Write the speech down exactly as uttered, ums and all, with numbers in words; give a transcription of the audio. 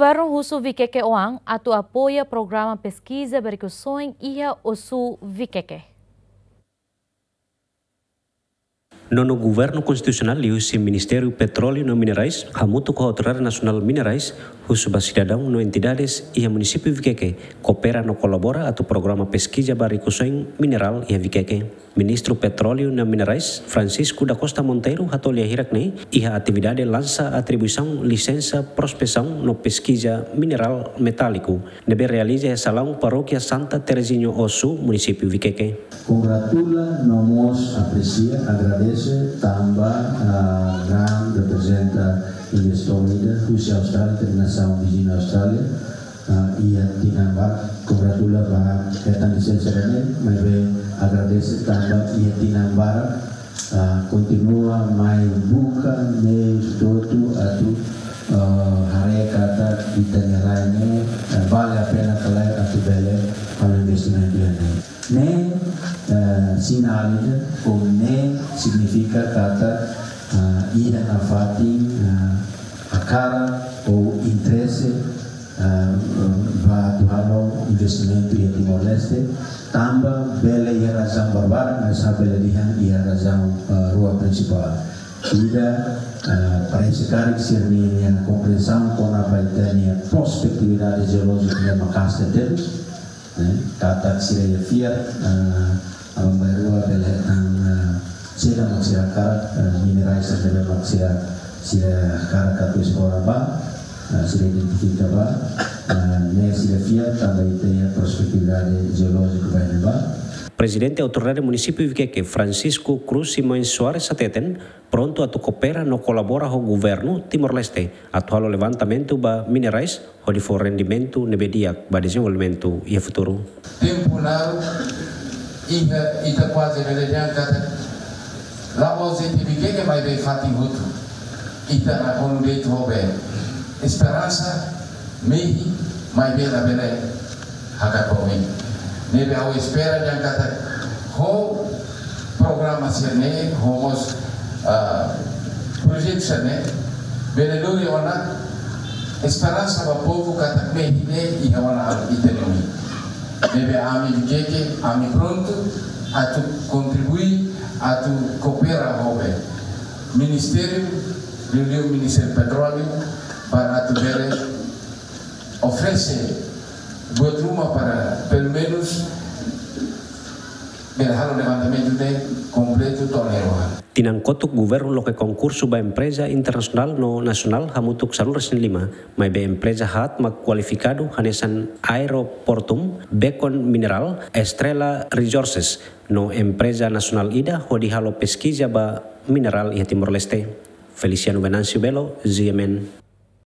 Governu husu Vikeke oan atu apoia programa peskiza ba rikusoin iha Osu, Vikeke. Nonu Governu Konstitusionál liuhusi Ministériu Petróleu no Minerais hamutuk ho Autoridade Nasionál Minerais husu ba sidadaun no entidades iha Munisípiu Vikeke koopera no kolabora atu programa peskiza ba rikusoin minerál iha Vikeke. Ministru Petróleu no Minerais, Francisco da Costa Monteiro, hato'o lia hirak-ne'e iha atividade lansa atribuisaun lisensa prospesaun no peskiza minerál metáliku ne'ebé realiza iha salaun Parókia Santa Terezinha Osu, Munisípiu Vikeke. Kongratula no mós apresia, agradese tanba, ah, GRAM reprezenta investidór ida husi Austrália, iha nasaun viziñu Austrália, ah, iha tinan barak. Kongratula ba hetan lisensa ida-ne'e, maibé agradese tanba iha tinan barak, ah, kontinua mai buka meius hotu atu, ah, haree katak ita-nia rai ne'e, ah, vale a pena ka lae atu bele halo investimentu iha ne'e. Ne'e, eh, sinál ida, ou ne'e signifika katak, ah, iha nafatin, ah, hakarak ou interese, ah, ba atu halo investimentu iha Timor-Leste, tanba bele iha razaun barbarak, mas labele dehan iha razaun, ah, rua prinsipál. Ida, ah, parese karik sira-nia kompriensaun kona-ba ita-nia prospetividade jeolójika ne'e maka'as tebes. Eh, katak sira iha fiar, eh, aban-bainrua bele hetan, eh, saida mak sira hakarak, eh, minerais saida mak sira, sira hakarak atu esplora ba, eh, sira identifika ba, eh, ne'e sira fiar tanba ita iha prospetividade jeolójika ba iha ne'ebá. Prezidente Autoridade Munisípiu Vikeke, Francisco Cruz Simões Soares, hateten, prontu atu koopera no kolabora ho Governu Timor-Leste atu halo levantamentu ba minerais hodi fó rendimentu ne'ebé di'ak ba dezenvolvimentu iha futuru. Tempu naruk iha, ita kuaze bele dehan katak la'ós de'it Vikeke maibé fatin hotu. Ita nakonu de'it ho be esperansa, mehi, maibé labele hakat ba oin. Ne'ebé ha'u espera dehan katak ho programa sira-ne'e, ho mós, ah, projetu sira-ne'e, bele lori ona esperansa ba povu katak mehi ne'e iha ona halo ita-nia oin. Ne'ebé ami Vikeke, ami prontu atu kontribui, atu koopera ho be Ministériu, liuliu Ministériu Petróleu, para atu bele oferese buat ruma para, pelumenus, bele halo levantamentu ne'e kompletu to'o ne'e rohan. Tinan kotuk Governu loke konkursu ba empreza internasionál no nasionál hamutuk sanulu-resin-lima, maibé empreza haat mak kualifikadu hanesan Aeroportum, Beacon Mineral, Estrela Resources, no empreza nasionál ida hodi halo peskiza ba minerál iha Timor-Leste. Feliciano Venâncio Belo, G M N.